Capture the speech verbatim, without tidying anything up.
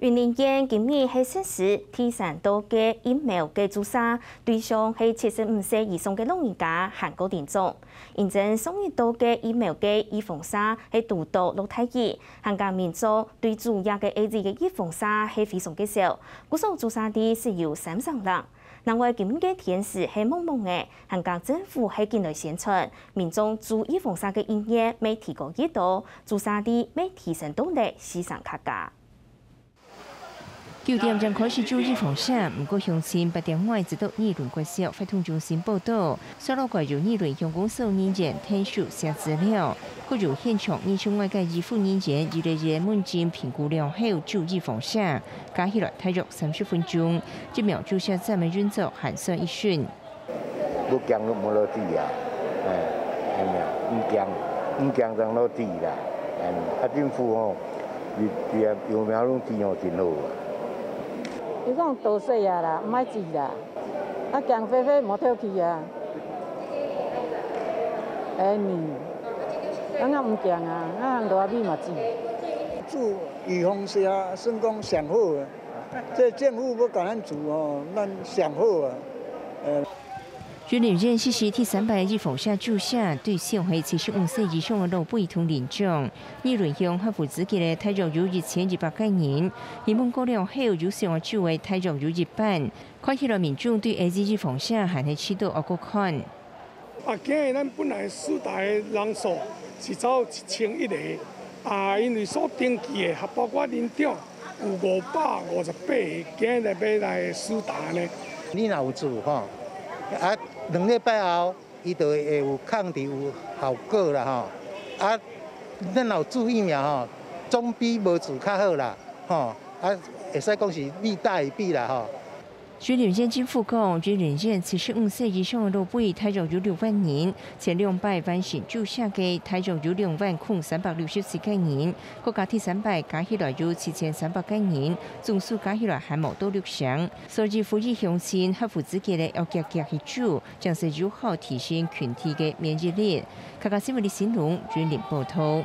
雲林縣今日係實施第三到个疫苗个注射，對象係七十五歲以上个老人家還過臨終。因為上一到个疫苗个預防射係堵著落大雨，還過民眾對主要个A Z个預防射係非常个少，故所注射率係有三成零。另外，今日个天時係濛濛个，還過政府係緊來宣傳，民眾注預防射个意願乜提高幾多，注射率乜提升到了四成較加。 九點正開始注預防射，毋過鄉親八點外就到二崙國小活動中心報到。紲落來由二崙鄉公所人員𢯭手寫資料，閣由現場二十外个醫護人員一个一个問診評估了後注預防射，加起來大約三十分鐘，疫苗注射站个運作還算一順。 無驚就無落注啊，哎，係啊，毋驚，毋驚正落注啦，哎，啊政府吼，你你啊疫苗攏注吼真好啊。佢講多歲啊啦，毋愛注啦，啊驚飛飛無透氣啊，哎你，啊𠊎毋驚啊，𠊎行路啊尾嘛注。注預防射啊，算講上好啊。 這政府欲共咱注吼，咱上好啊。呃，雲林縣實施第三擺預防射注射，對象係七十五歲以上个老輩同年長。二崙鄉合乎資格个大約有一千一百个人，希望過了後有想愛注个大約有一半。看起來民眾對A Z預防射還係試著愛過看。 啊，今日咱本來施打个人數是走一千一个，啊，因為所登記个，還包括年長，有五百五十八个，今日來欲來施打呢。你若有注吼，啊，兩禮拜後，伊就會有抗體有效果啦吼。啊，咱若有注疫苗吼，總比無注較好啦，吼，啊，會使講是利大於弊啦吼。 雲林縣政府講，雲林縣七十五歲以上个老輩大約有六萬人，前兩擺完成注射个大約有兩萬空三百六十四个人，閣加第三擺加起來有七千三百个人，總數加起來還無到六成。所以呼籲鄉親合乎資格个愛遽遽去注，正係有效提升群體个免疫力。客家新聞李新龍雲林報導。